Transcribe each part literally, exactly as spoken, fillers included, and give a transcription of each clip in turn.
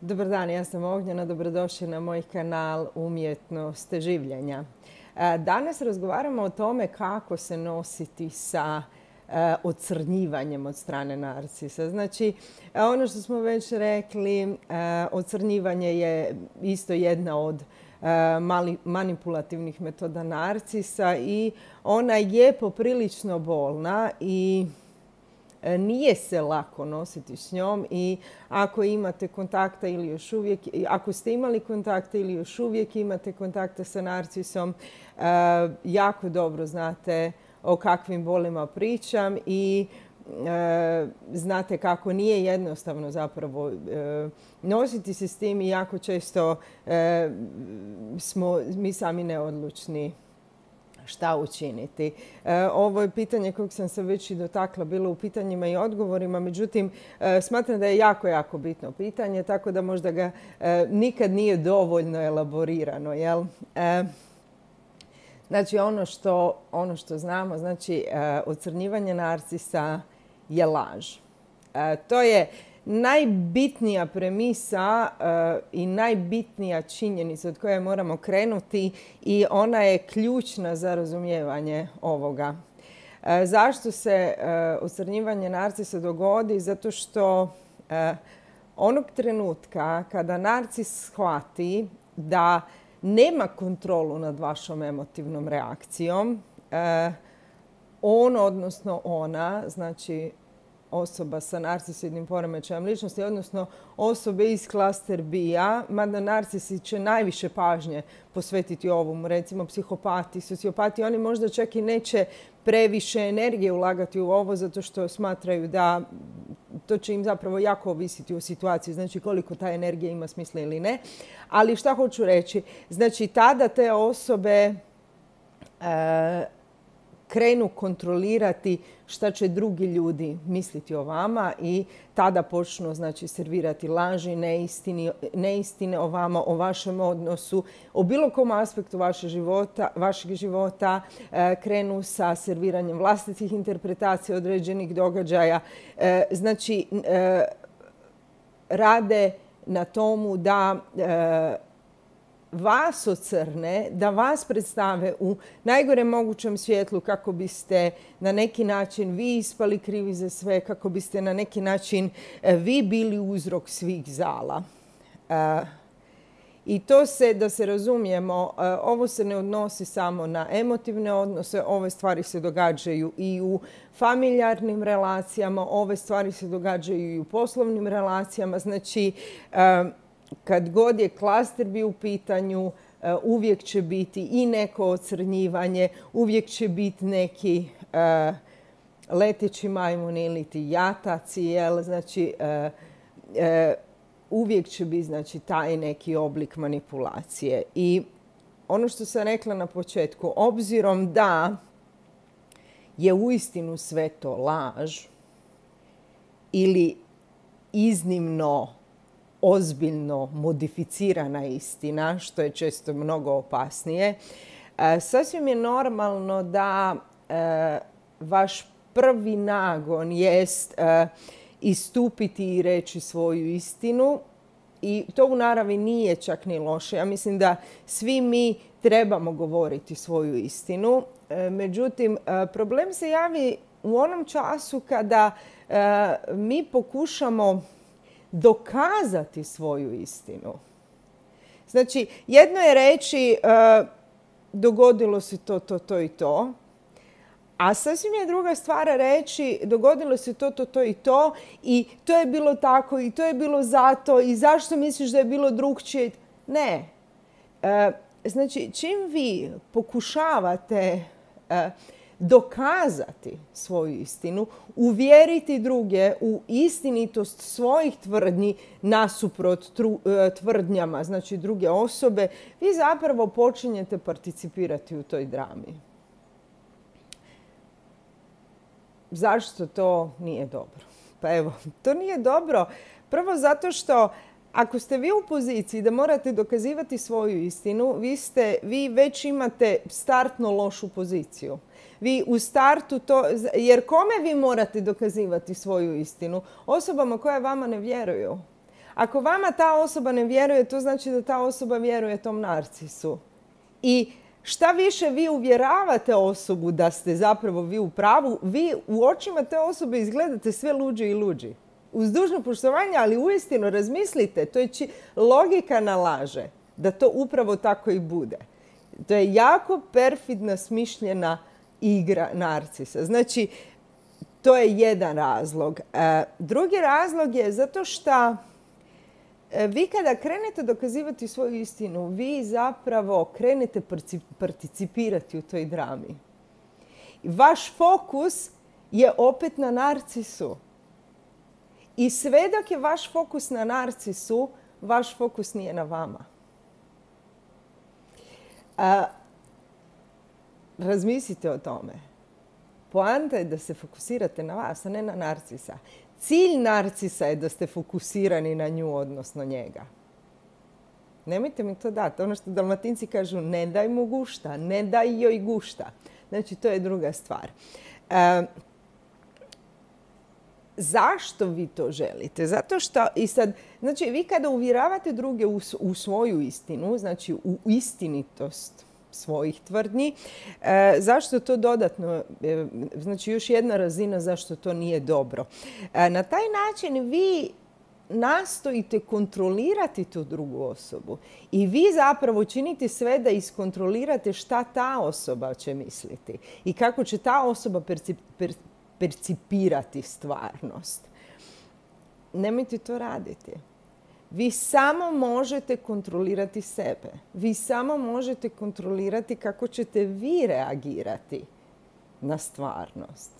Dobar dan, ja sam Ognjena, dobrodošli na moj kanal Umjetnost življenja. Danas razgovaramo o tome kako se nositi sa ocrnjivanjem od strane narcisa. Znači, ono što smo već rekli, ocrnjivanje je isto jedna od manipulativnih metoda narcisa i ona je poprilično bolna i nije se lako nositi s njom i ako imate kontakta ili još uvijek, ako ste imali kontakta ili još uvijek imate kontakta sa narcisom, jako dobro znate o kakvim bolima pričam i znate kako nije jednostavno zapravo nositi se s tim i jako često smo mi sami neodlučni šta učiniti. Ovo je pitanje kojeg sam se već i dotakla bilo u pitanjima i odgovorima, međutim smatram da je jako, jako bitno pitanje, tako da možda ga nikad nije dovoljno elaborirano. Jel? Znači ono što, ono što znamo, znači ocrnjivanje narcisa je laž. To je najbitnija premisa i najbitnija činjenica od koje moramo krenuti i ona je ključna za razumijevanje ovoga. Zašto se ocrnjivanje narcisa dogodi? Zato što onog trenutka kada narcis shvati da nema kontrolu nad vašom emotivnom reakcijom, on, odnosno ona, znači osoba sa narcisoidnim poremećajem ličnosti, odnosno osobe iz klaster B-a, mada narcisi će najviše pažnje posvetiti ovom, recimo psihopati, sociopati, oni možda čak i neće previše energije ulagati u ovo zato što smatraju da to će im zapravo jako ovisiti o situaciji, znači koliko ta energija ima smisla ili ne. Ali šta hoću reći? Znači tada te osobe e, krenu kontrolirati šta će drugi ljudi misliti o vama i tada počnu znači, servirati laži, neistine, neistine o vama, o vašem odnosu, o bilo kom aspektu vašeg života, vašeg života e, krenu sa serviranjem vlastitih interpretacija određenih događaja. E, znači, e, rade na tomu da e, vas ocrne, da vas predstave u najgorem mogućem svjetlu kako biste na neki način vi ispali krivi za sve, kako biste na neki način vi bili uzrok svih zala. I to se, da se razumijemo, ovo se ne odnosi samo na emotivne odnose, ove stvari se događaju i u familijarnim relacijama, ove stvari se događaju i u poslovnim relacijama. Znači, kad god je klaster B u pitanju, uvijek će biti i neko ocrnjivanje, uvijek će biti neki uh, leteći majmun ili ti jataci, jel? Znači, uh, uh, uvijek će biti znači, taj neki oblik manipulacije. I ono što sam rekla na početku, obzirom da je uistinu sve to laž ili iznimno ozbiljno modificirana istina, što je često mnogo opasnije, sasvim je normalno da vaš prvi nagon jest istupiti i reći svoju istinu i to u naravi nije čak ni loše. Ja mislim da svi mi trebamo govoriti svoju istinu. Međutim, problem se javi u onom času kada mi pokušamo dokazati svoju istinu. Znači, jedno je reći uh, dogodilo se to, to, to i to, a sasvim je druga stvar reći dogodilo se to, to, to i to i to je bilo tako i to je bilo zato i zašto misliš da je bilo drugčije? Ne. Uh, znači, čim vi pokušavate uh, dokazati svoju istinu, uvjeriti druge u istinitost svojih tvrdnji nasuprot tvrdnjama, znači druge osobe, vi zapravo počinjete participirati u toj drami. Zašto to nije dobro? Pa evo, to nije dobro. Prvo zato što ako ste vi u poziciji da morate dokazivati svoju istinu, vi, ste, vi već imate startno lošu poziciju. Vi u startu to, jer kome vi morate dokazivati svoju istinu? Osobama koje vama ne vjeruju. Ako vama ta osoba ne vjeruje, to znači da ta osoba vjeruje tom narcisu. I šta više vi uvjeravate osobu da ste zapravo vi u pravu, vi u očima te osobe izgledate sve luđi i luđi. Uz dužno poštovanje, ali uistinu razmislite, to je či, logika nalaže da to upravo tako i bude. To je jako perfidna, smišljena igra narcisa. Znači, to je jedan razlog. E, drugi razlog je zato što e, vi kada krenete dokazivati svoju istinu, vi zapravo krenete participirati u toj drami. Vaš fokus je opet na narcisu. I sve dok je vaš fokus na narcisu, vaš fokus nije na vama. A, razmislite o tome. Poanta je da se fokusirate na vas, a ne na narcisa. Cilj narcisa je da ste fokusirani na nju, odnosno njega. Nemojte mi to dati. Ono što Dalmatinci kažu, ne daj mu gušta, ne daj joj gušta. Znači, to je druga stvar. A, zašto vi to želite? Zato što, i sad, znači, vi kada uvjeravate druge u, u svoju istinu, znači u istinitost svojih tvrdnji, e, zašto to dodatno, e, znači još jedna razina zašto to nije dobro. E, na taj način vi nastojite kontrolirati tu drugu osobu i vi zapravo činite sve da iskontrolirate šta ta osoba će misliti i kako će ta osoba percip, per, percipirati stvarnost. Nemojte to raditi. Vi samo možete kontrolirati sebe. Vi samo možete kontrolirati kako ćete vi reagirati na stvarnost.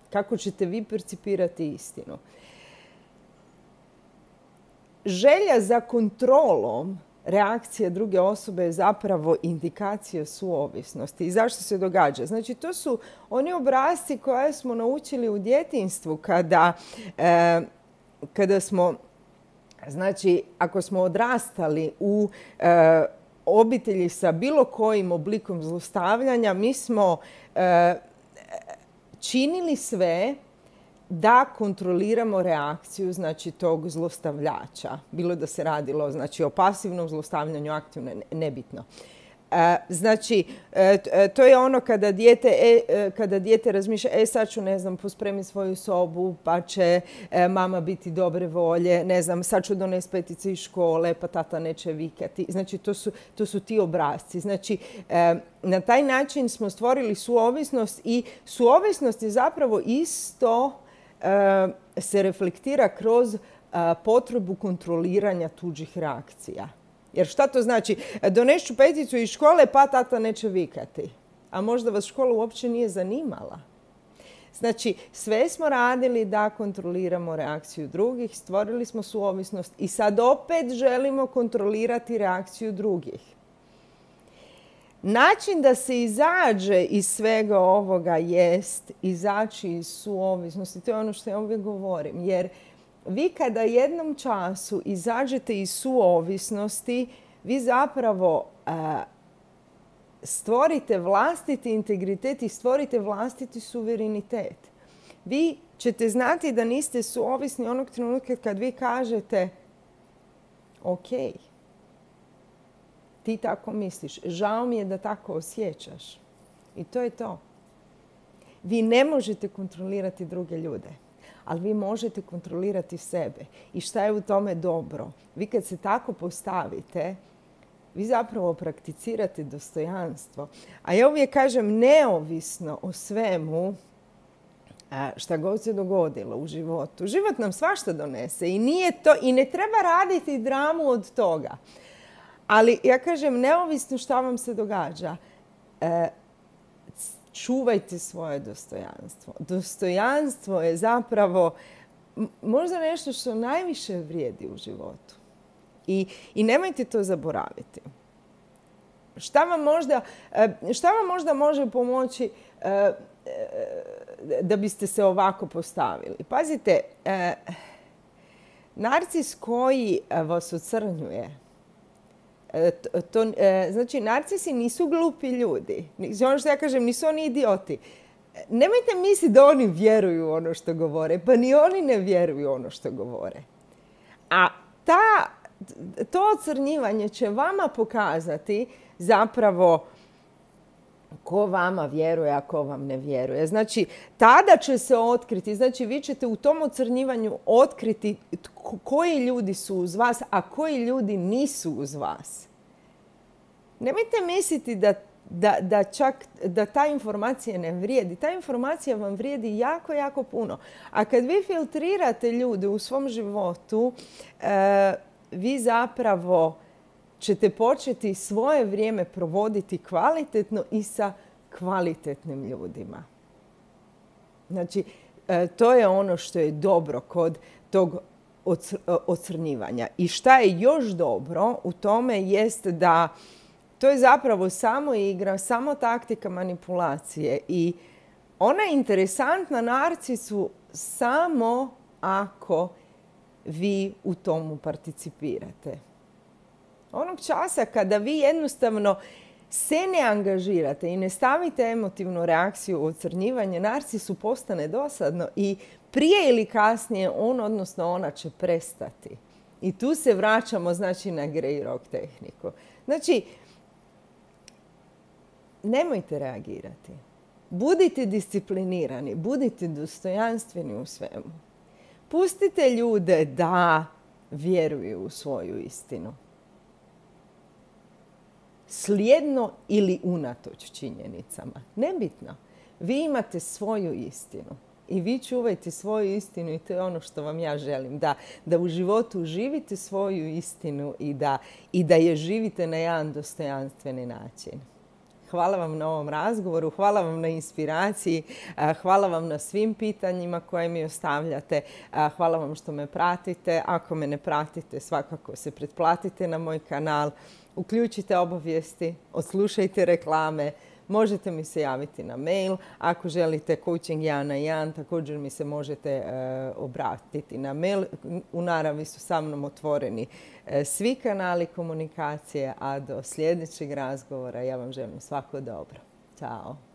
Kako ćete vi percipirati istinu. Želja za kontrolom reakcije druge osobe je zapravo indikacija suovisnosti. I zašto se događa? Znači, to su oni obrasci koje smo naučili u djetinjstvu kada, e, kada smo, znači, ako smo odrastali u e, obitelji sa bilo kojim oblikom zlostavljanja, mi smo e, činili sve da kontroliramo reakciju, znači, tog zlostavljača. Bilo da se radilo, znači, o pasivnom zlostavljanju, aktivno, nebitno. E, znači, e, to je ono kada dijete, e, kada dijete razmišlja, e sad ću, ne znam, pospremiti svoju sobu, pa će e, mama biti dobre volje, ne znam, sad ću donesti petice iz škole, pa tata neće vikati. Znači, to su, to su ti obrasci. Znači, e, na taj način smo stvorili suovisnost i suovisnost je zapravo isto se reflektira kroz potrebu kontroliranja tuđih reakcija. Jer šta to znači? Doneću peticu iz škole, pa tata neće vikati. A možda vas škola uopće nije zanimala. Znači, sve smo radili da kontroliramo reakciju drugih, stvorili smo suovisnost i sad opet želimo kontrolirati reakciju drugih. Način da se izađe iz svega ovoga jest izaći iz suovisnosti. To je ono što ja uvijek govorim. Jer vi kada jednom času izađete iz suovisnosti, vi zapravo a, stvorite vlastiti integritet i stvorite vlastiti suverenitet. Vi ćete znati da niste suovisni onog trenutka kad vi kažete ok, ti tako misliš. Žao mi je da tako osjećaš. I to je to. Vi ne možete kontrolirati druge ljude, ali vi možete kontrolirati sebe. I šta je u tome dobro? Vi kad se tako postavite, vi zapravo prakticirate dostojanstvo. A ja uvijek kažem, neovisno o svemu šta god se dogodilo u životu. Život nam svašta donese i nije to, i ne treba raditi dramu od toga. Ali ja kažem, neovisno šta vam se događa, e, čuvajte svoje dostojanstvo. Dostojanstvo je zapravo možda nešto što najviše vrijedi u životu. I, i nemojte to zaboraviti. Šta vam možda, šta vam možda može pomoći e, da biste se ovako postavili? Pazite, e, narcis koji vas ocrnjuje, To, to, znači, narcisi nisu glupi ljudi. Ono što ja kažem, nisu oni idioti. Nemojte misliti da oni vjeruju ono što govore. Pa ni oni ne vjeruju ono što govore. A ta, to ocrnjivanje će vama pokazati zapravo ko vama vjeruje, a ko vam ne vjeruje. Znači, tada će se otkriti, znači vi ćete u tom ocrnjivanju otkriti koji ljudi su uz vas, a koji ljudi nisu uz vas. Nemojte misliti da, da, da čak da ta informacija ne vrijedi. Ta informacija vam vrijedi jako, jako puno. A kad vi filtrirate ljude u svom životu, e, vi zapravo ćete početi svoje vrijeme provoditi kvalitetno i sa kvalitetnim ljudima. Znači, to je ono što je dobro kod tog ocrnjivanja. I šta je još dobro u tome jest da to je zapravo samo igra, samo taktika manipulacije. I ona je interesantna narcisu samo ako vi u tomu participirate. Onog časa kada vi jednostavno se ne angažirate i ne stavite emotivnu reakciju u ocrnjivanje, narcisu postane dosadno i prije ili kasnije on, odnosno ona, će prestati. I tu se vraćamo, znači, na Grey Rock tehniku. Znači, nemojte reagirati. Budite disciplinirani, budite dostojanstveni u svemu. Pustite ljude da vjeruju u svoju istinu. Slijedno ili unatoč činjenicama. Nebitno. Vi imate svoju istinu. I vi čuvajte svoju istinu i to je ono što vam ja želim. Da, da u životu živite svoju istinu i da, i da je živite na jedan dostojanstveni način. Hvala vam na ovom razgovoru, hvala vam na inspiraciji, hvala vam na svim pitanjima koje mi ostavljate, hvala vam što me pratite. Ako me ne pratite, svakako se pretplatite na moj kanal, uključite obavijesti, odslušajte reklame, možete mi se javiti na mail. Ako želite coaching jedan na jedan, također mi se možete e, obratiti na mail. U naravi su sa mnom otvoreni e, svi kanali komunikacije, a do sljedećeg razgovora ja vam želim svako dobro. Ćao.